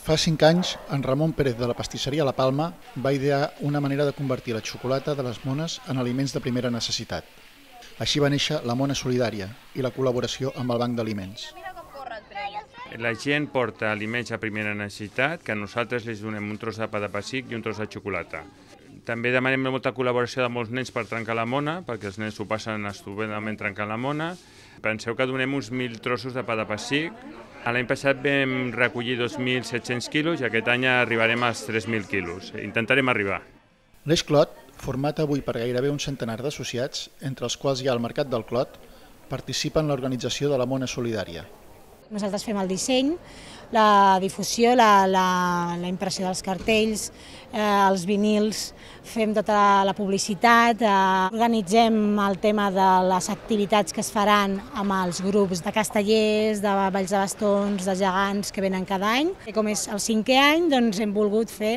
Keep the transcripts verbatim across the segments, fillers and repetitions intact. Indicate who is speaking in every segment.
Speaker 1: Fa cinc anys, en Ramon Pérez de la pastisseria La Palma va idear una manera de convertir la xocolata de les mones en aliments de primera necessitat. Així va néixer la Mona Solidària i la col·laboració amb el Banc d'Aliments.
Speaker 2: La gent porta aliments a primera necessitat, que nosaltres els donem un tros de pa de pessic i un tros de xocolata. També demanem molta col·laboració de molts nens per trencar la mona, perquè els nens ho passen estupendament trencant la mona. Penseu que donem uns mil trossos de pa de pessic. L'any passat vam recollir dos mil set-cents quilos i aquest any arribarem als tres mil quilos. Intentarem arribar.
Speaker 1: L'Eix Clot, format avui per gairebé un centenar d'associats, entre els quals hi ha el Mercat del Clot, participa en l'organització de la Mona Solidària.
Speaker 3: Nosaltres fem el disseny, la difusió, la, la, la impressió dels cartells, eh, els vinils, fem tota la publicitat, eh, organitzem el tema de les activitats que es faran amb els grups de castellers, de balls de bastons, de gegants que venen cada any. I com és el cinquè any, doncs hem volgut fer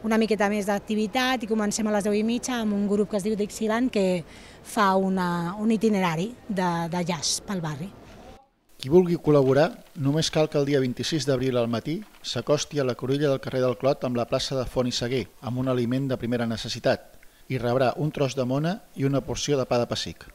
Speaker 3: una miqueta més d'activitat i comencem a les deu i mitja amb un grup que es diu Dixieland que fa una, un itinerari de, de jazz pel barri.
Speaker 1: Qui vulgui col·laborar, només cal que el dia vint-i-sis d'abril al matí s'acosti a la cruïlla del carrer del Clot amb la plaça de Font i Seguer, amb un aliment de primera necessitat, i rebrà un tros de mona i una porció de pa de pessic.